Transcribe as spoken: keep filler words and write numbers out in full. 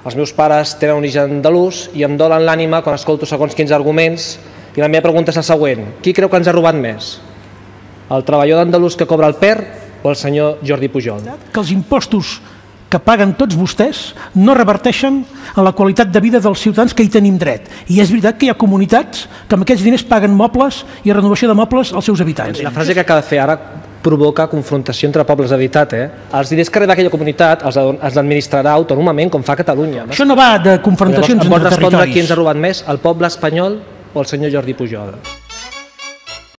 Els meus pares tenen origen andalús i em dolen l'ànima quan escolto segons quins arguments, i la meva pregunta és la següent: qui creu que ens ha robat més? El treballador andalús que cobra el P E R o el senyor Jordi Pujol? Que els impostos que paguen tots vostès no reverteixen en la qualitat de vida dels ciutadans que hi tenim dret. I és veritat que hi ha comunitats que amb aquests diners paguen mobles i renovació de mobles als seus habitants. La frase que acaba de fer ara provoca confrontació entre pobles, de veritat, eh? Els diners que rep aquella comunitat els administrarà autònomament, com fa Catalunya. Això no va de confrontacions entre territoris. Em pot respondre qui ens ha robat més, el poble espanyol o el senyor Jordi Pujol?